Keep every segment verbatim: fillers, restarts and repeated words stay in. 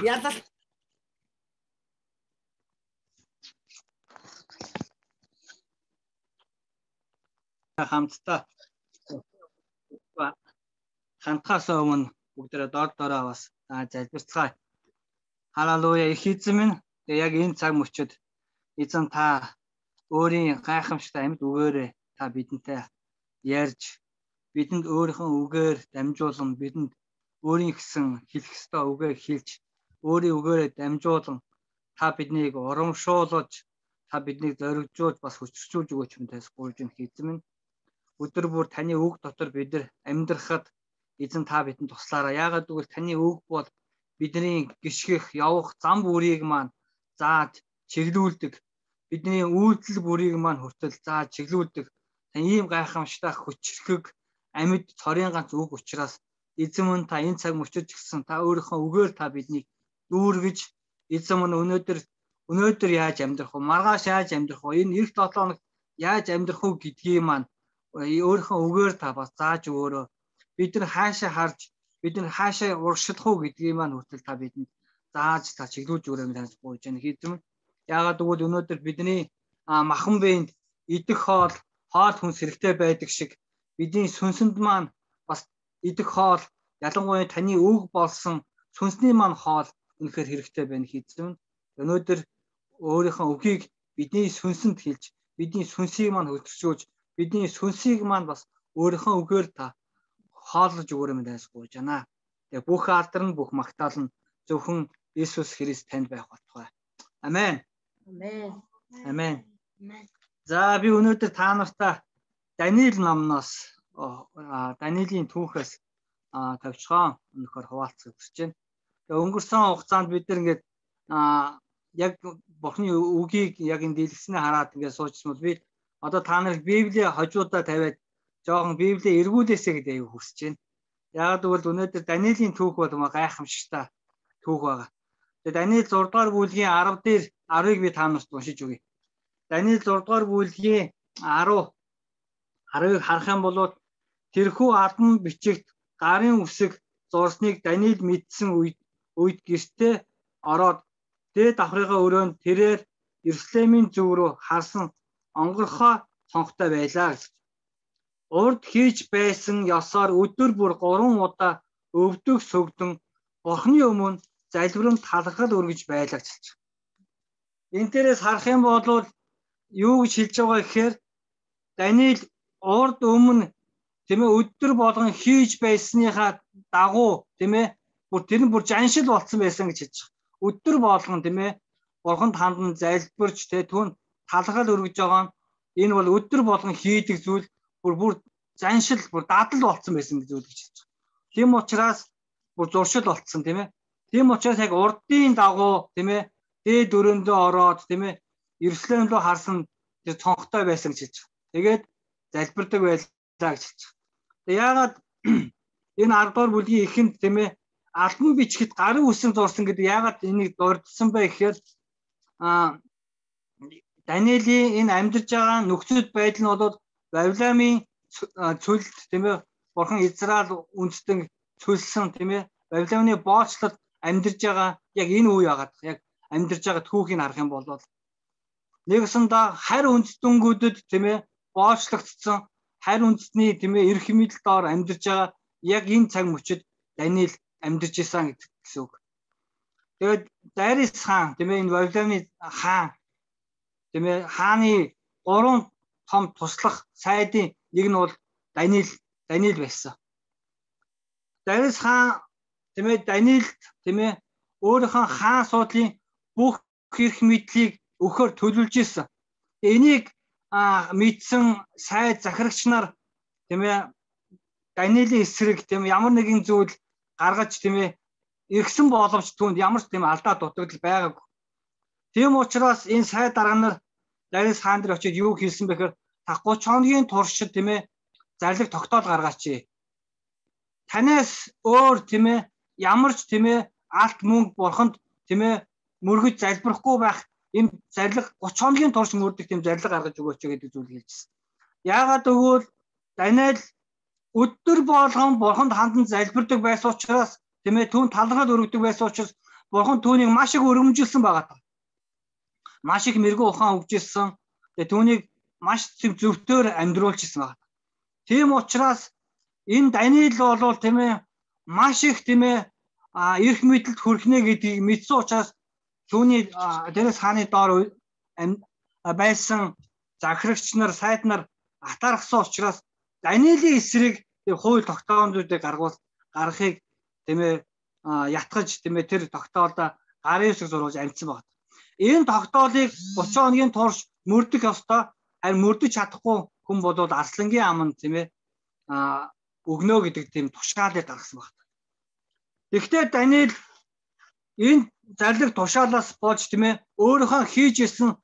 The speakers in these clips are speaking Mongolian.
Ялал хамтдаа хандхаас өмнө бүгдээрээ дор дороо бас залбирцгаая. Халелуя. Их эзэн минь яг энэ цаг мөчид эзэн та өөрийн гайхамшигтай амьд үгээрээ та бидэнтэй ярьж бидэнд өөрийнхөө үгээр дамжуулан бидэнд өөрийн гэсэн хэлэх ёстой үгээ хэлж өөрийн үгээрээ дамжуулан та биднийг урамшуулж та биднийг зоригжуулж бас хүчрчүүлж өгөөч юм тас гуйж энэ эзэн минь өдөр бүр таны үг дотор бид нар амьдрахад эзэн та бидэнд туслаарай. Яагаад гэвэл таны үг бол бидний гიშгэх явах зам бүрийг маань зааж чиглүүлдэг. Бидний үйлдэл бүрийг маань хүртэл зааж чиглүүлдэг. Таны ийм гайхамшигтай хүчрхэг амьд цорын ганц үг учраас эзэн минь та энэ цаг мөчид гэсэн та өөрийнхөө үгээр та биднийг дүүргэж эзэн минь өнөөдөр өнөөдөр яаж амьдрах вэ? Маргааш яаж амьдрах вэ? Энэ эх долоо хоног яаж амьдрах вэ гэдгийг маань өөрийнхөө үгээр та бас зааж өгөөрэй. Бид нар хаашаа харж бид нар хаашаа урагшлах уу гэдгийг маань хүртэл та бидэнд зааж та чиглүүлж өгөөрэй гэж гуйж байна. Эзэн яагаад гэвэл өнөөдөр бидний махан биенд идэх хоол хоол хүнс хэрэгтэй байдаг шиг бидний сүнсэнд маань бас идэх хоол ялангуяа таны үг болсон сүнсний маань хоол үнэхээр хэрэгтэй байна эзэн. Өнөөдөр өөрийнхөө үгийг бидний сүнсэнд хэлж бидний сүнсийг маань хөдөлгөөж бидний сүнсийг маань бас өөрийнхөө үгээр та хооллож өгөөрэй гэж гуйж байна. Тэгээ бүх алдар нь бүх магтаал нь зөвхөн Иесус Христ танд байх болтугай. Амен. Амен. Амен. За би өнөөдөр та нартай Даниил номноос Даниилийн түүхээс тавьчихсан өнөхөр хуваалцах хүсэж байна. Тэгээ өнгөрсөн хугацаанд бид нар ингээд яг Бурхны үгийг яг энэ дэлгэснээ хараад ингээд суучсан бол би одоо та нарыг Библийн хожуудаа тавиад жоохон Библийг эргүүлээсэй гэдэг аяг хүсэж байна. Яагаад гэвэл өнөөдөр Даниилийн түүх бол гайхамшигтай түүх байгаа. Тэгээ Даниил зураг дугаар бүлгийн арав дээр арвыг би та нарт уншиж өгье. Даниил зураг дугаар бүлгийн арав арвыг харах юм бол тэрхүү алдан бичигт гарын үсэг зурсныг Даниил мэдсэн үед үед гэртээ ороод дээд давхрынхаа өрөөнд тэрээр Иерусалимийн зөв рүү харсан онгорхоо цонхтой байлаа гэж. Урд хийж байсан ёсоор өдөр бүр гурван удаа өвдөх сөгдөн Бурхны өмнө залбиран талархал өргөж байлаа гэж. Энэ дээрээс харах юм бол юу гэж хэлж байгаа гэхээр Даниил урд өмнө тийм ээ өдөр болгон хийж байсныхаа дагуу тийм ээ бүр тэр нь бүр жаншил болцсон байсан гэж хэлж байгаа. Өдөр болгон тийм ээ Бурханд хандан залбирч тийм түүн талархал өргөж байгаа нь энэ бол өдөр болгон хийдэг зүйл бүр бүр заншил бүр дадал болцсон байсан гэж зүйл гэж хэлж байгаа. Тийм учраас бүр зуршил болцсон тийм ээ. Тийм учраас яг урдын дагуу тийм ээ дээд өрөөндөө ороод тийм ээ Иерусалим руу харсан тэр цонхтой байсан гэж хэлж байгаа. Тэгээд залбирдаг байлаа гэж хэлж байгаа. Тэг яагаад энэ арав дугаар бүлгийн эхэнд тийм ээ албан бичгэд гарын үсэн зурсан гэдэг яагаад энийг дурдсан бэ гэхээр а Даниилийн энэ амьдарч байгаа нөхцөл байдал нь бол Вавилонын цөлд тийм ээ Бурхан Израиль үндэстэн цөлсөн тийм ээ Вавилоны боочлолд амьдарч байгаа яг энэ үе яагаад яг амьдарч байгаа түүхийг харах юм бол нэгсэндээ харь үндэстэнүүдэд тийм ээ боочлогдсон харь үндэстний тийм ээ эрх мэдэл доор амьдарч байгаа яг энэ цаг мөчид Даниил амьдарч исэн гэсэн үг. Тэгээд Дарис хаан тийм ээ энэ Вавилоны хаан тийм ээ хааны гурван том туслах сайдын нэг нь бол Даниил Даниил байсан. Дарис хаан тийм ээ Даниилд тийм ээ өөрийнхөө хаан суудлын бүх эрх мэдлийг өгөхөөр төлөвлөж исэн. Энийг мэдсэн сайд захирагч нар тийм ээ Даниилийн эсрэг тийм ямар нэгэн зүйл гаргаж тийм ээ иргсэн боловч түүнд ямар ч тийм алдаа дутагдал байгаагүй. Тийм учраас энэ сайд дарга нар Дарис хаан дээр очиж юу хэлсэн бэхээр та гурван хоногийн туршид тийм ээ зарлиг тогтоол гаргаач. Танаас өөр тийм ээ ямар ч тийм ээ алт мөнгө Бурханд тийм ээ мөргөж залбирахгүй байх энэ зарлиг гурван хоногийн турш мөрдөг тийм зарлиг гаргаж өгөөч гэдэг зүйл хэлжсэн. Яагаад гэвэл Даниил өдөр болгон Бурханд хандан залбирдаг байсан учраас тийм ээ түүн талархал өргөдөг байсан учраас Бурхан түүнийг маш их өргөмжилсэн байгаа. Маш их мэрэгүү ухаан өгчээсэн. Тэгээ түүнийг маш зөвхтөөр амьдруулчихсан байна. Тийм учраас энэ Даниэл бол тийм ээ маш их тийм ээ эрх мэдэлд хүрхнэ гэдгийг мэдсэн учраас түүний дээрээс хааны доор байсан захирагч нар, сайд нар атаархсан учраас Даниэлийн эсрэг хууль тогтоомжуудыг гаргуул гаргахыг тийм ээ ятгаж тийм ээ тэр тогтоолдоо гарын үсэг зурулж амжсан байна. Энэ тогтоолыг гурван хоногийн турш мөрдөх ёстой. Харин мөрдөж чадахгүй хүн бол арслангийн аманд тийм ээ өгнө гэдэг тийм тушаалыг гаргасан байна. Гэхдээ Даниэл энэ зарлиг тушаалаас болж тийм ээ өөрийнхөө хийж исэн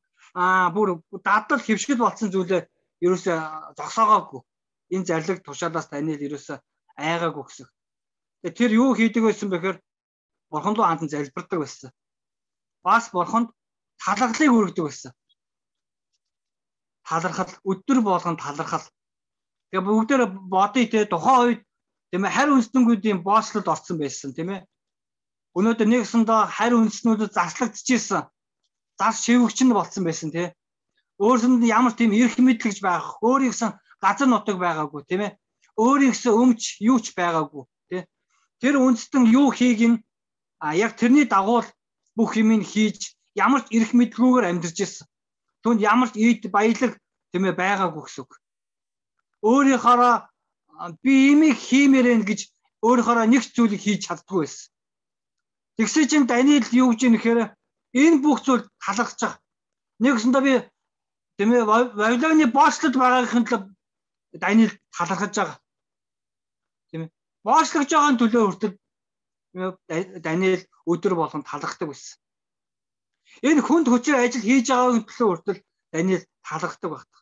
бүр дадал хөвшгөл болсон зүйлээ ерөөсөө зогсоогоогүй. Энэ зарлиг тушаалаас Даниэл ерөөсөө айгаагүй гэсэн. Тэр юу хийдэг байсан бэхээр бурхан руу хандан залбирдаг байсан. Бас бурханд талархлыг өргөдөг байсан. Талархал өдөр болгон талархал. Тэгээ бүгдээр бодъё те тухайн үед тийм ээ харь үндэстнүүдийн бооцлолд орсон байсан тийм ээ. Өнөөдөр нэгсэндээ харь үндэстнүүдэд заслагдчихсэн. Зас шивгч нь болсон байсан тийм ээ. Өөрсөнд ямар тийм эрх мэдлэгч байх, өөрийнхөө газар нутаг байгаагүй тийм ээ. Өөрийнхөө өмч юу ч байгаагүй тийм ээ. Тэр үндэстэн юу хийг нь а яг тэрний дагуу бүх юмыг хийж ямар ч эрх мэдлгүйгээр амьдарч ирсэн. Түүнд ямар ч ийд баялаг тийм ээ байгаагүй гэсэн үг. Өөрийнхөө би имийг хиймээрэн гэж өөрийнхөө нэг ч зүйлийг хийж чаддгүй байсан. Тэгсэн чинь Даниэл юу гэж нэхэр энэ бүх зүйл талархаж байгаа. Нэгсэндээ би тийм ээ Вавилоны бооцлолд байгаагын төлөө Даниэл талархаж байгаа. Тийм ээ. Бооцлогч байгаа төлөө хүртэл Даниэл өдөр болгон талархдаг байсан. Энэ хүнд хүчээр ажил хийж байгаагийн төлөө хүртэл Даниэл талархдаг байна.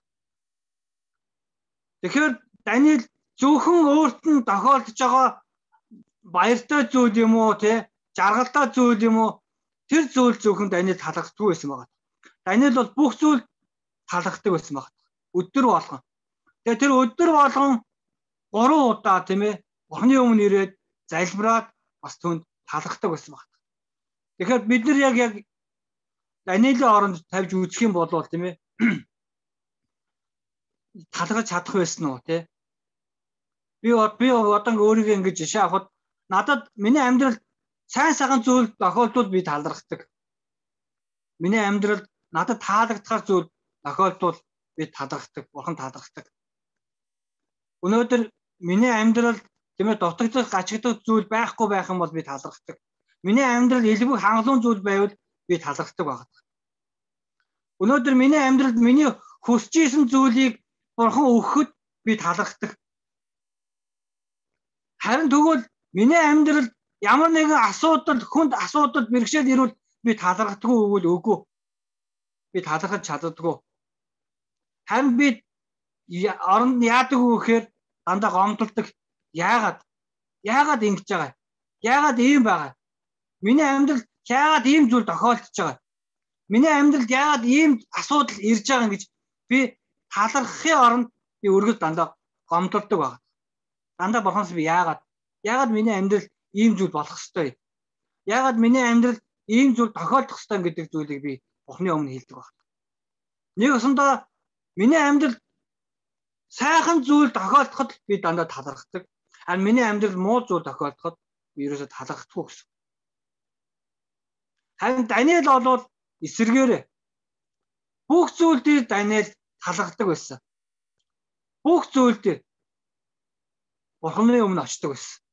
Тэгэхээр Даниэл зөвхөн өөрт нь тохиолдож байгаа баяртай зүйл юм уу те жаргалтай зүйл юм уу тэр зүйл зөвхөн Даниэл талархдаггүй байсан байна. Даниэл бол бүх зүйл талархдаг байсан байна. Өдөр болгон. Тэгээ тэр өдөр болгон гурван удаа тийм ээ Бурхны өмнө ирээд залбираад бас түнд талархдаг байсан байна. Тэгэхээр бид нар яг яг Даниэлийн оронд тавьж үзэх юм бол тийм ээ талархаж чадах байсан уу те би би одоо өөрийгөө ингэж жишээ авахад надад миний амьдралд сайн сайхан зүйл тохиолдвол би талархдаг. Миний амьдралд надад таалагдахар зүйл тохиолдвол би талархдаг, бурхан талархдаг. Өнөөдөр миний амьдралд тийм ээ дутагдах, гачигдах зүйл байхгүй байх юм бол би талархдаг. Миний амьдрал элбэг хангалуун зүйл байвал би талархдаг байна. Өнөөдөр миний амьдралд миний хүсэж исэн зүйлийг бурхан өгөхөд би талархдаг. Харин тэгвэл миний амьдралд ямар нэгэн асуудал, хүнд асуудал бэрхшээл ирвэл би талархдаггүй өгвөл үгүй. Би талархаж чаддаггүй. Харин би оронд яадаг вэ гэхээр дандаа гомдолдог. Яагаад? Яагаад ингэж байгаа? Яагаад ийм байгаа? Миний амьдралд яагаад ийм зүйл тохиолдож байгаа? Миний амьдралд яагаад ийм асуудал ирж байгаа гэж би талархахын оронд би өргөл дандаа гомдолдог байна. Дандаа бурханаас би яагаад? Яагаад миний амьдралд ийм зүйл болох ёстой? Яагаад миний амьдралд ийм зүйл тохиолдох ёстой гэдэг зүйлийг би Бурхны өмнө хэлдэг байна. Нэг өсөндөө миний амьдралд сайхан зүйл тохиолдоход би дандаа талархдаг. Харин миний амьдралд муу зүйл тохиолдоход би ерөөсө талархдаггүй гэсэн. Харин Даниэл бол эсэргээрээ бүх зүйл дээр Даниэл талархдаг байсан. Бүх зүйл дээр Бурхны өмнө очдог байсан.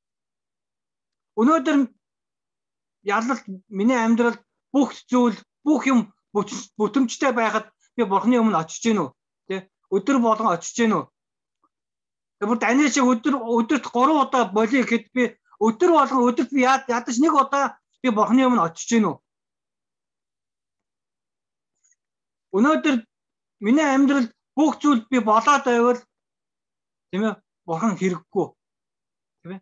Өнөөдөр ялалт миний амьдралд бүх зүйл, бүх юм бүтэмжтэй байхад би Бурхны өмнө очиж гэнэ үү? Тэ? Өдөр болгон очиж гэнэ үү? Тэгвэл Даниэл шиг өдөр өдөрт гурван удаа болиё гэхэд би өдөр болгон өдөрт би ядаж нэг удаа би Бурхны өмнө очиж гэнэ үү? Өнөөдөр миний амьдралд бүх зүйл би болоод байвал тийм ээ Бурхан хэрэггүй. Тийм ээ.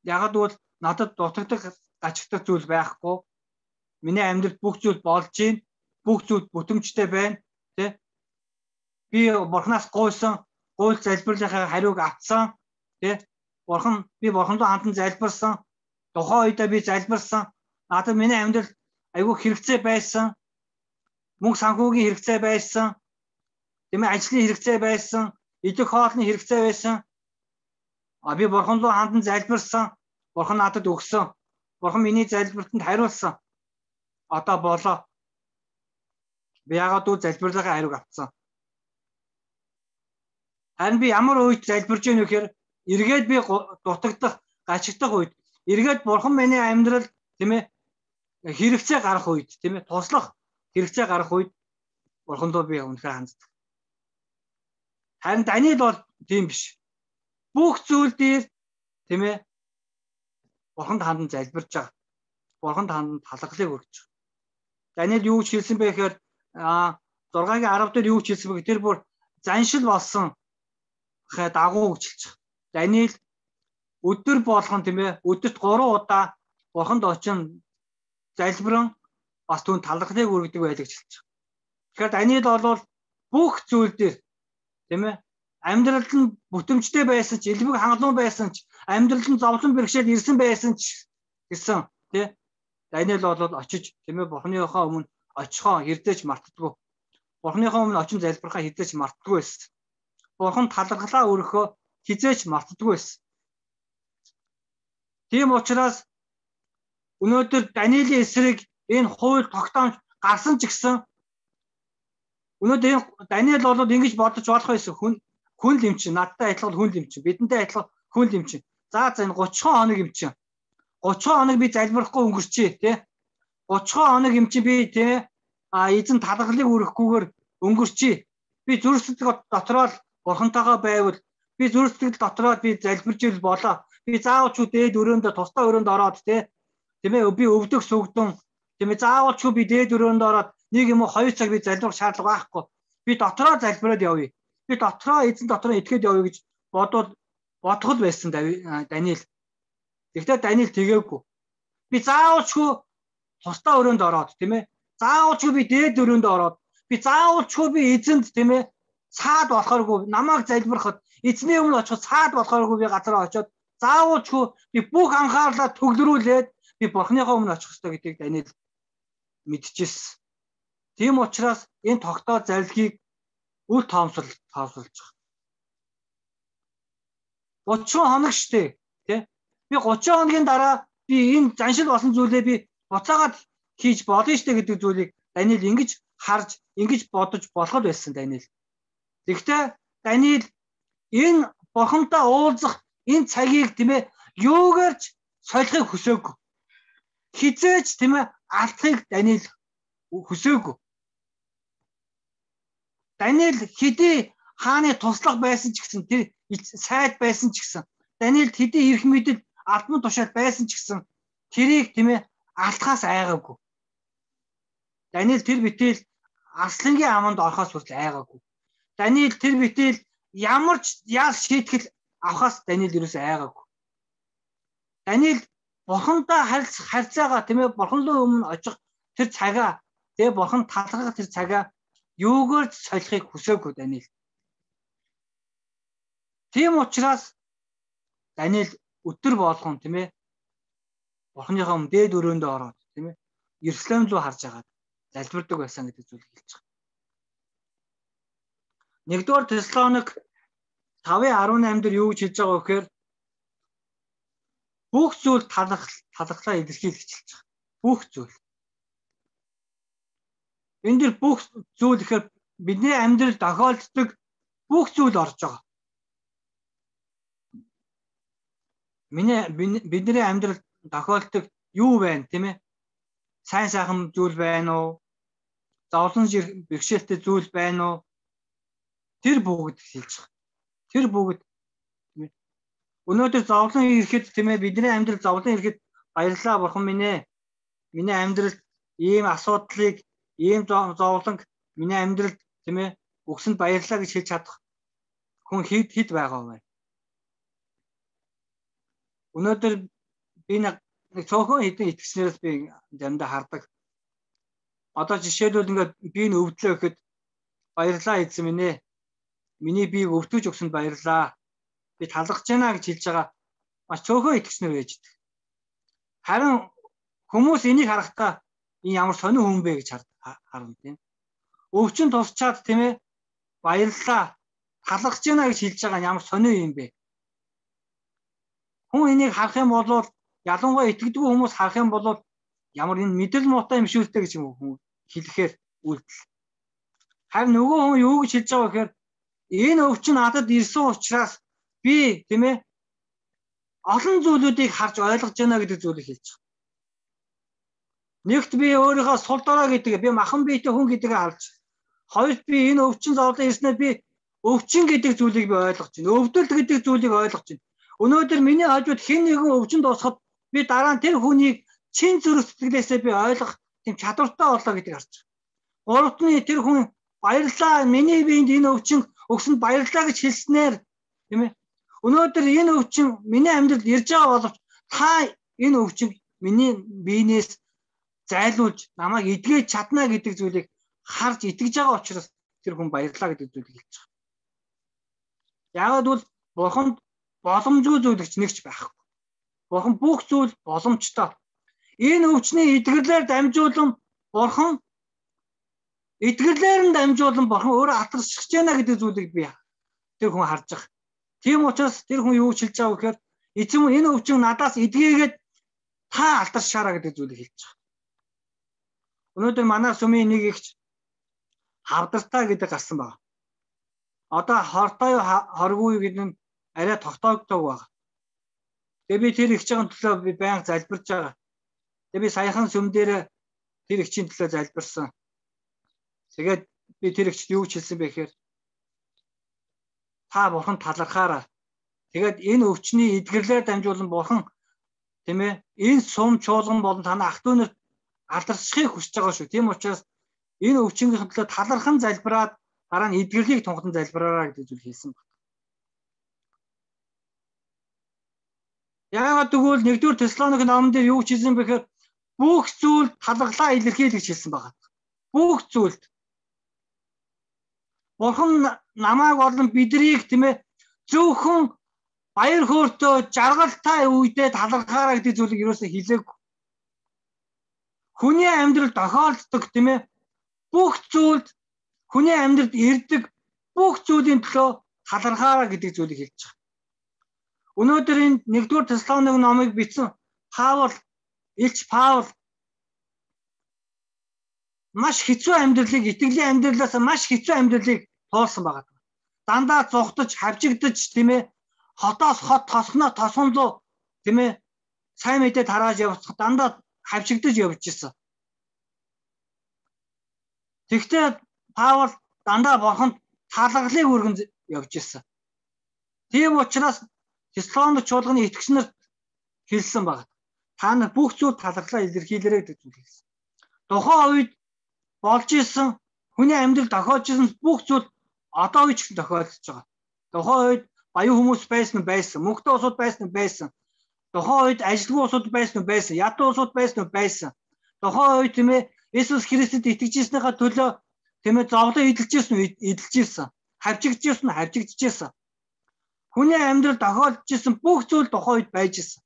Ягаад гэвэл надад дутагдах, гачигдах зүйл байхгүй. Миний амьдралд бүх зүйл болж байна. Бүх зүйл бүтэмжтэй байна. Тэ? Би Бурханаас гуйсан, гуйл залбирлынхаа хариуг авсан. Тэ? Бурхан би Бурханд хандан залбирсан. Тухайн үедээ би залбирсан. Надад миний амьдрал айгүй хэрэгцээ байсан. Мөнгө санхүүгийн хэрэгцээ байсан. Тийм ээ, ажлын хэрэгцээ байсан. Идэх хоолны хэрэгцээ байсан. А би бурхан руу хандан залбирсан. Бурхан надад өгсөн. Бурхан миний залбиртанд хариулсан. Одоо болоо. Би яагаад үл залбирлагын хариуг авцсан. Харин би ямар үед залбирж ийн вэхээр эргээд би дутагдах, гачигдах үед, эргээд бурхан миний амьдрал тийм ээ хэрэгцээ гарах үед, тийм ээ туслах хэрэгцээ гарах үед бурхандоо би үнэхээр ханддаг. Харин Даниэл бол тийм биш. Бүх зүйл дээр тийм ээ бурханд хандан залбирж байгаа. Бурханд хандан талархлыг өргөж байгаа. Даниэл юу ч хэлсэн бэ гэхээр а зургагийн арав дээр юу ч хэлсэн бэ тэр бүр заншил болсон хэ дагуу гэж хэлж байгаа. Даниэл өдөр болгон тийм ээ өдөрт гурван удаа бурханд очин залбиран бас түүнд талархлыг өргөдөг байлаа гэж хэлж байгаа. Тэгэхээр Даниэл бол бүх зүйл дээр тийм ээ амьдралд нь бүтэмжтэй байсан ч, элбэг хангалуун байсан ч, амьдралд нь зовлон бэрхшээл ирсэн байсан ч гэсэн тий Даниэл бол очиж тийм ээ бурхныхоо өмнө очихоо хэрдэж мартдаггүй. Бурхныхоо өмнө очин залбирхаа хэрдэж мартдаггүй байсан. Бурхан талархлаа өргөхөө хизээч мартдаггүй байсан. Тийм учраас өнөөдөр Даниэлийн эсрэг энэ хууль тогтоомж гарсан ч гэсэн өнөөдөр энэ Даниэл бол ингэж бодож болох байсан. Хүн хүн л юм чинь надтай адилхан хүн л юм чинь бидэнтэй адилхан хүн л юм чинь. За за энэ гучин хоног юм чинь. гучин хоног би залбирахгүй өнгөрчээ тий. гучин хоног юм чинь би тий а эзэн талархлыг өргөхгүйгээр өнгөрчээ. Би зүрх сэтгэл дотроо л бурхантайгаа байвал би зүрх сэтгэл дотроо би залбирж ил болоо. Би заавал ч дээд өрөөндө тусдаа өрөөнд ороод тий. Тийм ээ би өвдөх сүгдэн тийм ээ заавал ч би дээд өрөөнд ороод нэг юм уу хоёр цаг би залбирах шаардлага байхгүй. Би дотроо залбираад явъя. Би дотроо эзэн дотроо итгэхэд явъя гэж бодвол бодхол байсан Даниэл. Тэгвэл Даниэл тэгээгүй. Би заавал ч тусдаа өрөөнд ороод тийм ээ. Заавал ч би дээд өрөөнд ороод би заавал ч би эзэнд тийм ээ цаад болохооргүй намайг залбирахад эзний өмнө очиход цаад болохооргүй би газараа очиод заавал ч би бүх анхаарлаа төгөлрүүлээд би бурхныхоо өмнө очих ёстой гэдгийг Даниэл мэдчихсэн. Тийм учраас энэ тогтоо зарилгийг үл тоомсол тоомсолж байгаа. гучин хоног штэ тий. Би гучин хоногийн дараа би энэ заншил болсон зүйлээ би буцаагаад хийж болно штэ гэдэг зүйлийг Даниэл ингэж харж, ингэж бодож болох байсан Даниэл. Тэгэхдээ Даниэл энэ бурхантай уулзах энэ цагийг тийм ээ юугаарч солихыг хүсээгүй. Хизээч тийм ээ алдахыг Даниэл хүсээгүй. Даниэл хэдий хааны туслах байсан ч гэсэн тэр сайд байсан ч гэсэн Даниэл хэдий эрх мэдэл албан тушаал байсан ч гэсэн тэрийг тийм ээ алдахаас айгаагүй. Даниэл тэр битэл арслангийн аманд орохоос хүртэл айгаагүй. Даниэл тэр битэл ямар ч ял шийтгэл авахаас Даниэл юусэн айгаагүй. Даниэл бурхантай харьцаагаа тийм ээ бурхан руу өмнө очих тэр цагаа тэгээ бурхан талархах тэр цагаа юугаар солихыг хүсээгүй Даниэл. Тийм учраас Даниэл өдөр болгон тийм ээ бурханыхаа өмнө дээд өрөөндөө ороод тийм ээ Иерусалим руу харж агаад залбирдаг байсан гэдэг зүйлийг хэлж байгаа. Нэгдүгээр Тесалоник тавын арван осем дээр юу гэж хэлж байгаа вэ гэхээр бүх зүйл талархлаа илэрхийлж хэлж байгаа. Бүх зүйл. Энд дэр бүх зүйл гэхээр бидний амьдрал тохиолддог бүх зүйл орж байгаа. Миний бидний амьдрал тохиолддог юу байна тийм ээ? Сайн сайхан зүйл байна уу? Зовлон бэрхшээлтэй зүйл байна уу? Тэр бүгд хэлж байгаа. Тэр бүгд тийм ээ. Өнөөдөр зовлон ирэхэд тийм ээ бидний амьдрал зовлон ирэхэд баярлалаа бурхан минь ээ. Миний амьдралд ийм асуудлыг, ийм зовлонг миний амьдралд тийм ээ өгсөнд баярлалаа гэж хэлж чадах хүн хэд хэд байгаа вэ? Өнөөдөр би нэг цөөхөн хэдэн итгэгчнээс би заримдаа хардаг. Одоо жишээлбэл ингээд би н өвдлөө гэхэд баярлалаа эзэн минь ээ. Миний биеийг өвтөж өгсөнд баярлалаа. Би талархаж байна гэж хэлж байгаа маш цөөхөн итгэгчнэр байж дээ. Харин Хүмүүс энийг харахтаа энэ ямар сонио хүн бэ гэж харна тийм. Өвчин тусчаад тийм ээ баярлалаа талархаж байна гэж хэлж байгаа нь ямар сонио юм бэ? Хүн энийг харах юм бол ялангуяа итгэдэггүй хүмүүс харах юм бол ямар энэ мэдрэл муутай юм шүүлтэй гэж хүн хэлэхээр үйлдэл. Харин нөгөө хүн юу гэж хэлж байгаа гэхээр энэ өвчин надад ирсэн учраас би тийм ээ олон зүйлүүдийг харж ойлгож байна гэдэг зүйлийг хэлж байгаа. Нэгт би өөрийнхөө сул дорой гэдэг би махан биетэй хүн гэдгийг харж. Хоёрт би энэ өвчин зовлон ирснээр би өвчин гэдэг зүйлийг би ойлгож байна. Өвдөлт гэдэг зүйлийг ойлгож байна. Өнөөдөр миний хажууд хэн нэгэн өвчнөд усахад би дараа нь тэр хүнийг чин зүрх сэтгэлээсээ би ойлгох тийм чадвартай болоо гэдгийг харж байгаа. Гуравт нь тэр хүн баярлалаа миний биед энэ өвчин өгсөнд баярлалаа гэж хэлснээр тийм ээ. Өнөөдөр энэ өвчин миний амьдралд ирж байгаа боловч та энэ өвчин миний биенээс зайлуулж намайг эдгэж чадна гэдэг зүйлийг харж итгэж байгаа учраас тэр хүн баярлалаа гэдэг зүйлийг хэлж байгаа. Яагаад бол бурханд боломжгүй зүйлч нэгч байхгүй. Бурхан бүх зүйл боломжтой. Энэ өвчний эдгэрлээр дамжуулан бурхан эдгэрлээр нь дамжуулан бурхан өөрөө алдаршиж байна гэдэг зүйлийг би тэр хүн харж байгаа. Тийм учраас тэр хүн юу хэлж байгаа вэ гэхээр эзэн энэ өвчин надаас эдгээгээд та алдаршаараа гэдэг зүйлийг хэлж байгаа. Өнөөдөр манай сүмийн нэг ихч хавдартай гэдэг гарсан байна. Одоо хортой хоргүй гэдэг нь арай тогтоогддог байна. Тэгээ би тэр ихчийн төлөө би байнга залбирж байгаа. Тэгээ би саяхан сүм дээр тэр ихчийн төлөө залбирсан. Тэгээд би тэр ихчд юу хэлсэн бэ гэхээр та бурхан талархаараа. Тэгээд энэ өвчний эдгэрлээр дамжуулан бурхан тийм ээ энэ сум чуулган болон танай ах дүү нарт алдаршихыг хүсэж байгаа шүү. Тийм учраас энэ өвчнөхийн төлөө талархан залбираад дараа нь эдгэрлийг тунхаглан залбираараа гэдэг зүйл хэлсэн байна. Яагаад гэвэл нэгдүгээр Тесалоник номон дээр юу хэлсэн бэ гэхээр бүх зүйл талархлаа илэрхийлж хэлсэн байна. Бүх зүйлд бурхан намайг болон бидрийг тийм ээ зөвхөн баяр хөөртэй жаргалтай үедээ талархаараа гэдэг зүйлийг юусоо хэлээгүй. Хүний амьдрал тохиолддог тийм ээ бүх зүйлд хүний амьдралд ирдэг бүх зүйлийн төлөө талархаараа гэдэг зүйлийг хэлж байгаа. Өнөөдөр энэ нэгдүгээр Тесалоник номыг бичсэн Паул, Илч Паул маш хэцүү амьдралыг итгэлийн амьдралаас маш хэцүү амьдралыг туулсан байгаа. Дандаа зугтаж, хавчигдаж тийм ээ хотоос хот тосгоноо тосгон руу тийм ээ сайн мэдээ тарааж явах дандаа хавчигдаж явж ирсэн. Тэгвэл Паул дандаа бурханд талархлыг өргөн явж ирсэн. Тийм учраас Тесалоник чуулганы итгэгч нарт хэлсэн байна. Та нар бүх зүйл талархлаа илэрхийлээрэй гэж хэлсэн. Тухайн үед болж исэн хүний амьдрал тохиолж исэн бүх зүйл одоо үеч тохиолдож байгаа. Тухайн үед баян хүмүүс байсан байсан, мөнгөтэй улсууд байсан байсан. Тухайн үед ажилгүй улсууд байсан байсан, ядуу улсууд байсан байсан. Тухайн үед тийм ээ Иесус Христэд итгэж ирснийхаа төлөө тийм ээ зовлон эдэлж ирсэн эдэлж ирсэн. Хавчигдж ирсэн хавчигдж ирсэн. Хүний амьдрал тохиолдож исэн бүх зүйл тухайн үед байж исэн.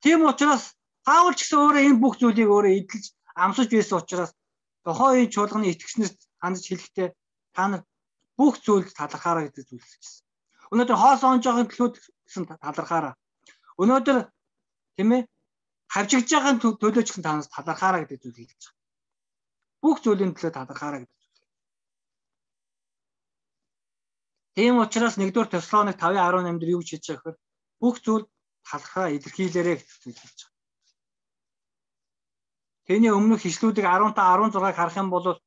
Тийм учраас Паул ч гэсэн өөрөө энэ бүх зүйлийг өөрөө эдэлж амсаж байсан учраас тухайн үеийн чуулганы итгэгчнэрт хандж хэлэхдээ та нар бүх зүйлд талархаараа гэдэг зүйл хэлсэн. Өнөөдөр хоос онжоогийн төлөө гэсэн талархаараа. Өнөөдөр тийм ээ хавчигдж байгаа төлөө ч гэсэн та нар талархаараа гэдэг зүйл хэлж байгаа. Бүх зүйлийн төлөө талархаараа гэдэг зүйл. Тийм учраас нэгдүгээр Тесалоник тавын арван наймд дээр юу гэж хэлж байгаа гэхээр бүх зүйл талархаа илэрхийлээрэй гэж зүйл хэлж байгаа. Тэний өмнөх хишлүүдийг арван та арван зургааг харах юм бол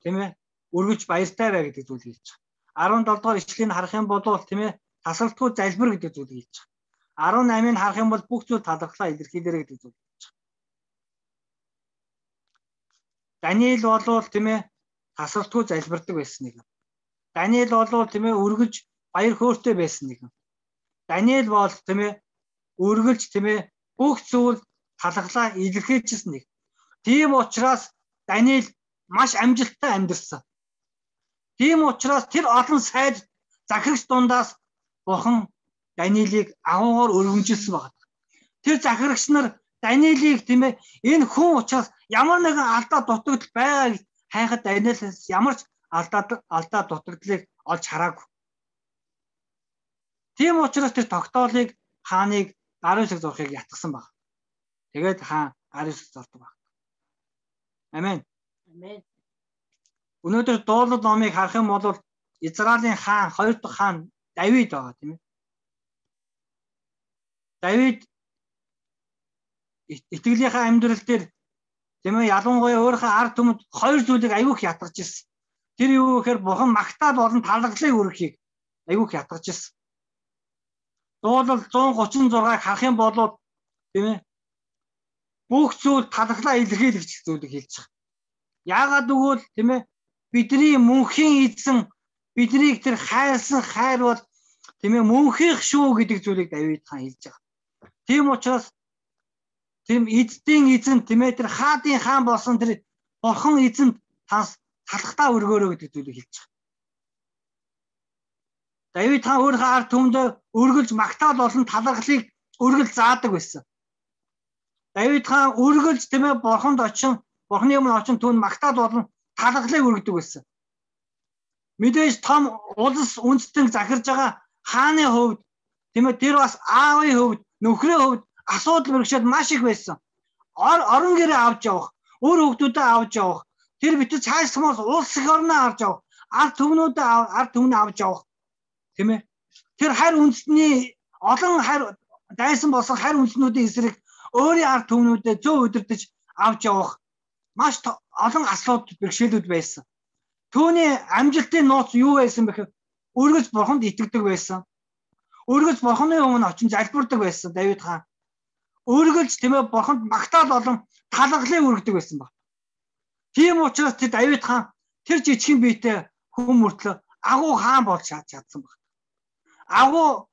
тийм ээ өргөж баяртай бай гэдэг зүйл хэлж байгаа. арван долоо дугаар ишлэгийг харах юм бол тийм ээ тасралтгүй залбир гэдэг зүйл хэлж байгаа. арван намыг харах юм бол бүх зүйл талархлаа илэрхийлээрэй гэдэг зүйл хэлж байгаа. Даниэл болвол тийм ээ тасралтгүй залбирдаг байсан нэг. Даниэл болвол тийм ээ өргөж баяр хөөртэй байсан нэг. Даниэл бол тийм ээ өргөлж тийм ээ бүх зүйл талархлаа илэрхийлжсэн нэг. Тийм учраас Даниэл маш амжилттай амьдэрсэн. Тийм учраас тэр олон сайд захирагч дундаас бурхан Даниэлийг агуугаар өргөмжилсэн байна. Тэр захирагч нар Даниэлийг тийм ээ энэ хүн учраас ямар нэгэн алдаа дутагдал байгааг хайхад Даниэлээс ямар ч алдаа алдаа дутагдлыг олж хараагүй. Тийм учраас тэр тогтоолыг хааныг Дариусыг зурхыг ятгсан баг. Тэгээд хаан Дариусыг зурдаг баг. Амен. Амен. Өнөөдөр дуулал номыг харах юм бол Израилийн хаан, хоёр дахь хаан Давид байгаа тийм ээ. Давид итгэлийнхаа амьдрал дээр тийм ээ ялангуяа өөрийнхөө ард түмэнд хоёр зүйлийг аягүй их ятгаж ирсэн. Тэр юу гэхээр бурхан магтаал болон талархлыг өргөхийг аягүй их ятгаж ирсэн. Дуулал зуун гучин зургааг харах юм бол тийм ээ бүх зүйл талархлаа илэрхийлэх зүйлийг хэлж байгаа. Яагаад гэвэл тийм ээ бидний мөнхийн эзэн биднийг тэр хайрсан хайр бол тийм ээ мөнхийнх шүү гэдэг зүйлийг Давид хаан хэлж байгаа. Тийм учраас тийм эзэн эзэн тийм ээ тэр хаадын хаан болсон тэр бурхан эзэнд тас талхтаа өргөөрөө гэдэг зүйлийг хэлж байгаа. Давид хаан өөрийнхөө ард түмэндээ өргөлж магтаал болон талархлыг өргөл заадаг байсан. Давид хаан өргөлж тийм ээ бурханд очин бурханы өмнө очин түүнд магтаал болон талархлыг өргөдөг байсан. Мэдээж том улс үндэстэн захирж байгаа хааны хувьд тийм ээ тэр бас аавын хувьд нөхрийн хувьд асуудал бэрхшээл маш их байсан. Орон гэрээ авч явах, өөр хүүхдүүдэд авч явах, тэр битүү цаашмаас улс их орноо авч явах, ард түмнүүдэд ард түмнээ авч явах. Тийм ээ. Тэр харь үндэстний олон харь дайсан болсон харь үндэстнүүдийн эсрэг өөрийн ард түмнүүдэд зөв удирдах авч явах маш олон асуудал бэрхшээлүүд байсан. Түүний амжилтын нууц юу байсан бэхээр өргөж бурханд итгэдэг байсан. Өргөж бурханы өмнө очин залбирдаг байсан Давид хаан. Өргөлж тийм ээ бурханд магтаал болон талархлыг өргөдөг байсан баг. Тийм учраас тэр Давид хаан тэр жижигхэн биетэй хүн мөртлөө агуу хаан болж чадсан баг. Агуу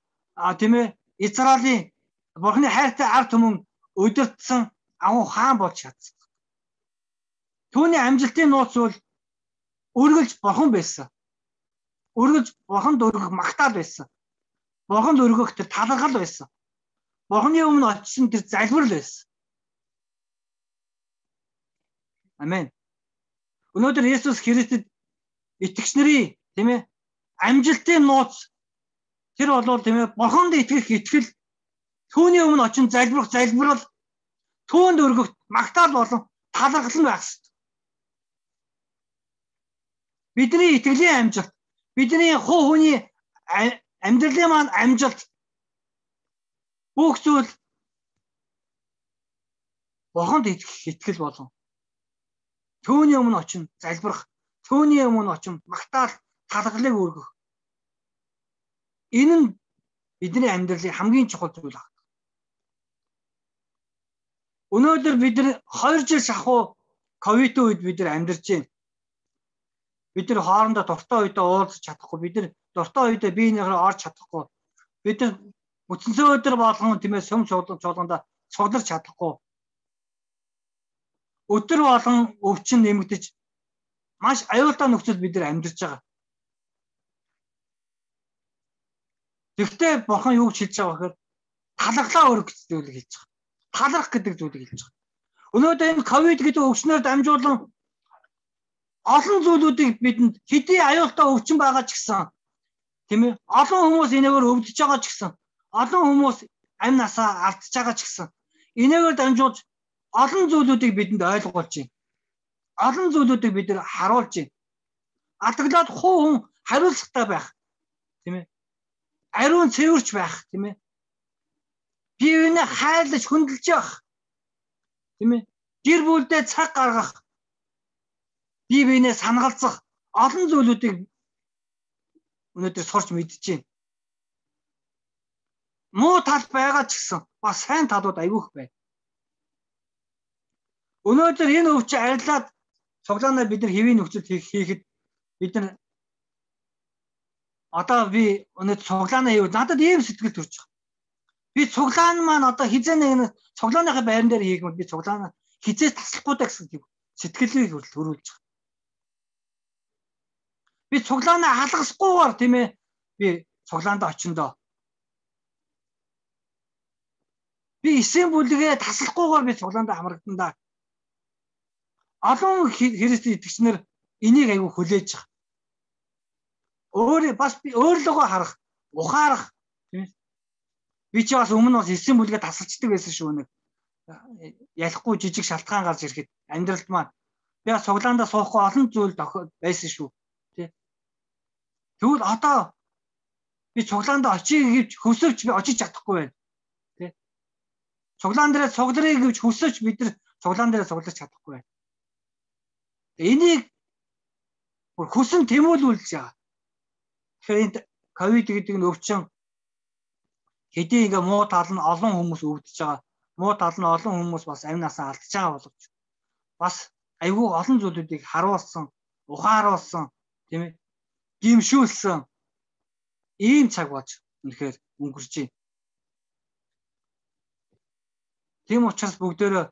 тийм ээ Израилийн бурханы хайртай ард түмэн өдөртсөн агуу хаан болж чадсан. Түүний амжилтын нууц бол өргөлж бурхан байсан. Өргөлж бурханд өргөх магтаал байсан. Бурханд өргөх тэр талархал байсан. Бурханы өмнө очсон тэр залбирал байсан. Амен. Өнөөдөр Есүс Христэд итгэгч нарын тийм ээ амжилтын нууц тэр бол тийм ээ бурханд итгэх итгэл, түүний өмнө очин залбирах залбирал, түүнд өргөх магтаал болон талархал байх ёстой. Бидний итгэлийн амжилт, бидний хуу хүний амьдралын маань амжилт бүх зүйл бурханд итгэх итгэл болон түүний өмнө очин залбирах, түүний өмнө очин магтаал талархлыг өргөх. Энэ нь бидний амьдралын хамгийн чухал зүйл байна. Өнөөдөр бид нар хоёр жил шахуу ковидын үед бид нар амьдарч байна. Бид нар хоорондоо дуртай үедээ уулзах чадахгүй, бид нар дуртай үедээ биенийхээ орж чадахгүй. Бид нар үтсэнсээ өдөр болгон тийм ээ сүм чуулган чуулгандаа цугларч чадахгүй. Өдөр болгон өвчин нэмэгдэж маш аюултай нөхцөлд бид нар амьдарч байгаа. Тэгвэл бурхан юу гэж хэлж байгаа гэхээр талархлаа өргөх гэж зүйлийг хэлж байгаа. Таларх гэдэг зүйлийг хэлж байгаа. Өнөөдөр энэ ковид гэдэг өвчнөөр дамжуулан олон зүйлүүдийг бидэнд хэдий аюултай өвчин байгаа ч гэсэн тийм ээ олон хүмүүс энэгээр өвдөж байгаа ч гэсэн олон хүмүүс амь насаа алдж байгаа ч гэсэн энэгээр дамжуулж олон зүйлүүдийг бидэнд ойлгуулж байна. Олон зүйлүүдийг бид нар харуулж байна. Атаглаад хуу хүн хариуцлагатай байх тийм ээ ариун цэвэрч байх тийм ээ биеийг хайлж хөндлөж явах тийм ээ гэр бүлдээ цаг гаргах бие биенээ санагалзах олон зүйлүүдийг өнөөдөр сурч мэдж байна. Муу тал байгаа ч гэсэн бас сайн талууд айгүйх байна. Өнөөдөр энэ өвчин арилаад цуглаанаар бид нар хэвийн нөхцөлд хийхэд бид нар одоо би өнөөдөр цуглаанаа хийвэл надад ийм сэтгэл төрж байгаа. Би цуглаан маань одоо хизээ нэг цуглааныхаа байран дээр хийх юм би цуглаанаа хизээ таслахгүй даа гэсэн сэтгэлийг хөрвүүлж байгаа. Би цуглаанаа халахсгүйгээр тийм ээ би цуглаанд очиндоо. Би Би эсийн бүлгээ таслахгүйгээр би цуглаандаа хамрагдана да. Олон Христэд итгэгчнэр энийг аягүй хүлээж байгаа. Өөр бас би өөрлөгөө харах, ухаарах тийм. Би ч бас өмнө бас эсийн бүлгээ тасалчдаг байсан шүү нэг. Ялахгүй жижиг шалтгаан гарч ирэхэд амьдралд маань би бас цуглаандаа суухгүй олон зүйл байсан шүү. Тэ. Тэгвэл одоо би цуглаандаа очиж гэвч хөсөвч би очиж чадахгүй байна. Тэ. Цуглаан дээрээ цугларыг гэвч хөсөвч бид нар цуглаан дээрээ цуглаж чадахгүй байна. Энийг бүр хүсэн тэмүүлүүлж байгаа. Тэгэхээр энэ ковид гэдэг нь өвчин хэдий ингээ муу тал нь олон хүмүүс өвдөж байгаа. Муу тал нь олон хүмүүс бас амь насаа алдчихж байгаа боловч бас айгүй олон зүйлүүдийг харуулсан, ухааруулсан, тийм ээ, гимшүүлсэн ийм цаг болж үнэхээр өнгөрч байна. Тийм учраас бүгдөө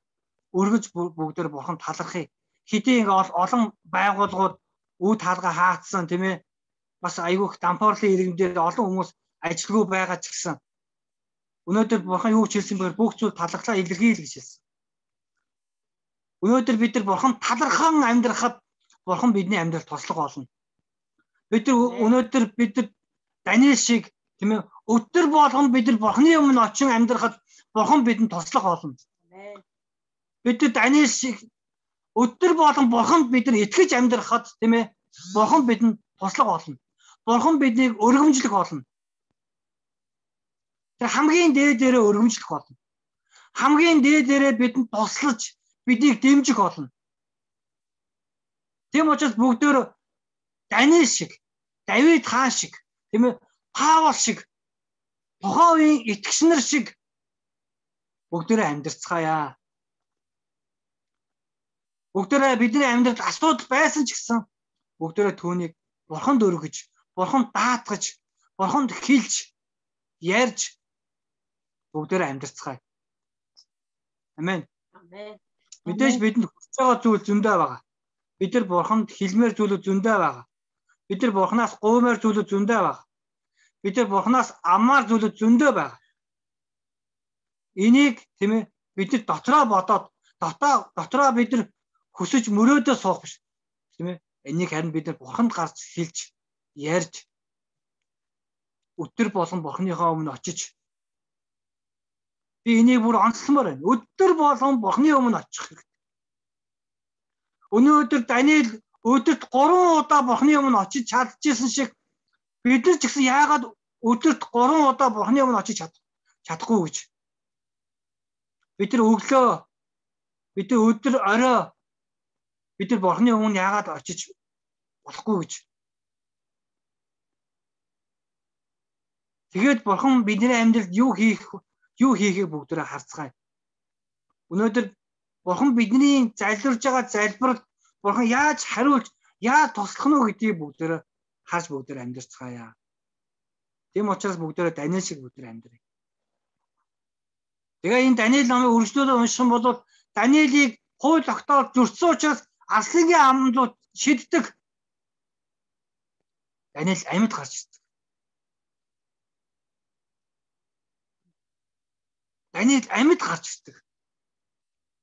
өргөж бүгдөө бурхан талархъя. Хэдий ингээ олон байгууллагууд үе таалга хаацсан, тийм ээ, бас айгүйх дампуурлын иргэмдээр олон хүмүүс ажилгүй байгаа ч гэсэн өнөөдөр бурхан юу ч хэлсэн бээр бүх зүйл талархлаа илэрхийл гэж хэлсэн. Өнөөдөр бид нар бурхан талархан амьдрахад бурхан бидний амьдралд туслах болно. Бид нар өнөөдөр бид нар Даниэл шиг тийм ээ өдөр болгон бид нар бурханы өмнө очин амьдрахад бурхан бидэнд туслах болно. Бид нар Даниэл шиг өдөр болгон бурханд бид нар итгэж амьдрахад тийм ээ бурхан бидэнд туслах болно. Бурхан биднийг өргөмжлөх болно. Тэр хамгийн дээдээрээ өргөмжлөх болно. Хамгийн дээдээрээ бидэнд туслаж биднийг дэмжих болно. Тийм учраас бүгдөө Даниэл шиг, Давид хаан шиг, тийм ээ, Паул шиг, тухайн үеийн итгэгчнэр шиг бүгдөө амьдрцгаая. Бүгдөө бидний амьдралд асуудал байсан ч гэсэн бүгдөө түүнийг бурханд өргөж, бурханд даатгаж, бурханд хэлж, ярьж бүгдөө амьдрцгаая. Амен. Амен. Мэдээж бидэнд хүсэж байгаа зүйл зөндөө байгаа. Бид нар бурханд хэлмээр зүйлүүд зөндөө байгаа. Бид нар бурханаас гуймаар зүйлүүд зөндөө байгаа. Бид нар бурханаас аммаар зүйлүүд зөндөө байгаа. Энийг тийм ээ бид нар дотроо бодоод дотоо дотроо бид нар хүсэж мөрөөдөө суух биш. Тийм ээ. Энийг харин бид нар бурханд гарч хэлж, ярьж өдөр болгон бурханыхаа өмнө очиж би энийг бүр онцлмоор байна. Өдөр болгон бурханы өмнө очих хэрэгтэй. Өнөөдөр Даниэл өдөрт гурван удаа бурханы өмнө очиж чадчихсан шиг бид нар ч гэсэн яагаад өдөрт гурван удаа бурханы өмнө очиж чад чадахгүй гэж. Бид нар өглөө, бид нар өдөр орой бид нар бурханы өмнө яагаад очиж болохгүй гэж. Тэгээд бурхан бидний амьдралд юу хийх юу хийхийг бүгдөө харцгаая. Өнөөдөр бурхан бидний залбирж байгаа залбирал бурхан яаж хариулж, яаж туслах нь вэ гэдгийг бүгдөө харж бүгдөө амьдрцгаая. Тийм учраас бүгдөө Даниэл шиг бүгдөө амьдрая. Тэгээ энэ Даниэл намыг үргэлжлүүлээд унших юм бол Даниэлийг хууль тогтоол зөрчсөн учраас арслангийн амлууд шиддэг. Даниэл амьд гарч ирдэг. Даниэл амьд гарч ирдэг.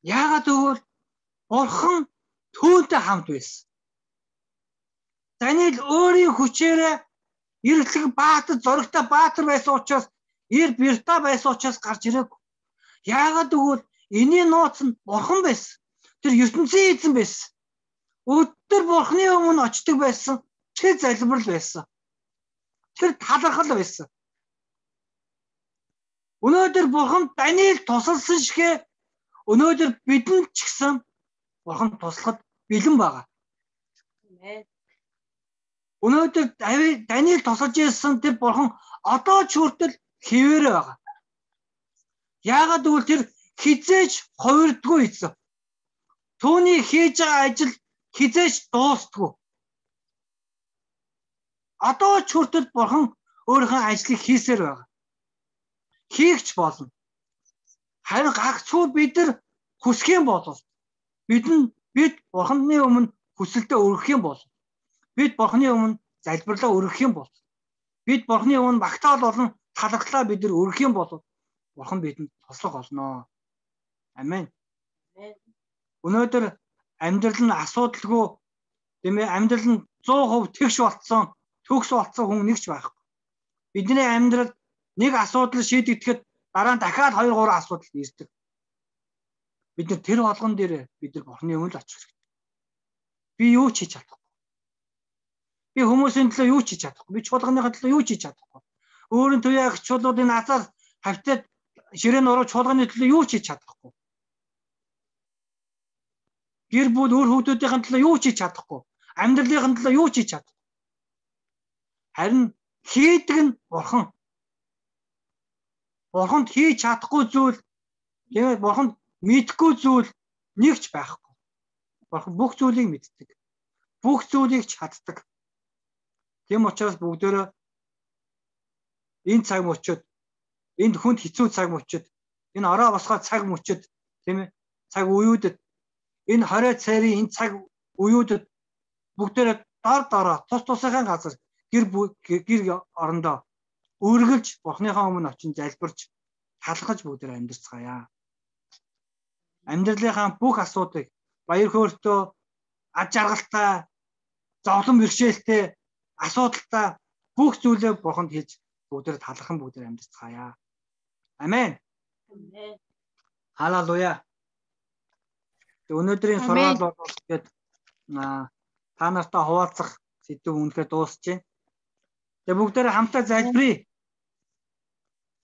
Яагаад гэвэл бурхан түүнтэй хамт байсан. Даниэл өөрийн хүчээрээ эргэлэг баатар, зоригтой баатар байсан учраас, эр бирта байсан учраас гарч ирээгүй. Яагаад гэвэл энэний нууц нь бурхан байсан. Тэр ертөнцийн эзэн байсан. Өдөр бурханы өмнө очдог байсан. Тэр залбирал байсан. Тэр талархал байсан. Өнөөдөр бурхан Даниэл тусалсан шигэ өнөөдөр бидэнд ч гэсэн бурхан туслахад бэлэн байгаа. Өнөөдөр Даниэл тусалж ирсэн тэр бурхан одоо ч хүртэл хэвээрээ байгаа. Яагаад гэвэл тэр хизээж хувирдгүй эзэн. Түүний хийж байгаа ажил хизээж дуустгүй. Одоо ч хүртэл бурхан өөрийнхөө ажлыг хийсээр байгаа. Хийгч болно. Харин гагцхүү бид нар хүсэх юм бол бид нь бид бурханы өмнө хүсэлтэд өргөх юм бол бид бурханы өмнө залбирлаа өргөх юм бол бид бурханы өмнө багтаал болон талархлаа бид нар өргөх юм бол Бурхан бидэнд туслах болно. Амен. Өнөөдөр амьдрал нь асуудалгүй тийм ээ амьдрал нь сто процент тэгш болцсон, төгс болцсон хүн нэгч байхгүй. Бидний амьдрал нэг асуудал шийдэгдэхэд дараа нь дахиад хоёр гурван асуудал ирдэг. Бид нар тэр болгон дээр бид нар Бурханы өмнө л очих хэрэгтэй. Би юу ч хийж чадахгүй. Би хүмүүсийн төлөө юу ч хийж чадахгүй. Би чуулганыхаа төлөө юу ч хийж чадахгүй. Өөрийн туяа агчуулуудын азар хавтад ширээн уруу чуулганы төлөө юу ч хийж чадахгүй. Гэр бүл өөр хүүхдүүдийн төлөө юу ч хийж чадахгүй. Амьдралын төлөө юу ч хийж чадахгүй. Харин хийдэг нь Бурхан. Бурханд хийж чадахгүй зүйл тэгээд Бурханд мэдхгүй зүйл нэгч байхгүй. Бурхан бүх зүйлийг мэддэг. Бүх зүйлийг чаддаг. Тийм учраас бүгдөө энэ цаг мөчид энд хүнд хэцүү цаг мөчид энэ ороо босгоо цаг мөчид тийм ээ цаг үеүүдэд энэ хорой цайрын энэ цаг үеүүдэд бүгдөө дор дороо тус тусынхаа газар гэр гэр орондоо үргэлж Бурханыхаа өмнө очин залбирч талхаж бүгдээр амьдарцгаая. Амьдралынхаа бүх асуудыг баяр хөөртэй, ад жаргалтай, зовлон бэрхшээлтэй, асуудалтай бүх зүйлээ Бурханд хэлж бүгдээр талхан бүгдээр амьдарцгаая. Амен. Амен. Халелуя. Өнөөдрийн сургаал бол тэгээд та нартай хуваалцах сэдв үнэхээр дуусж байна. Тэгээд бүгдээрээ хамтаа залбирая.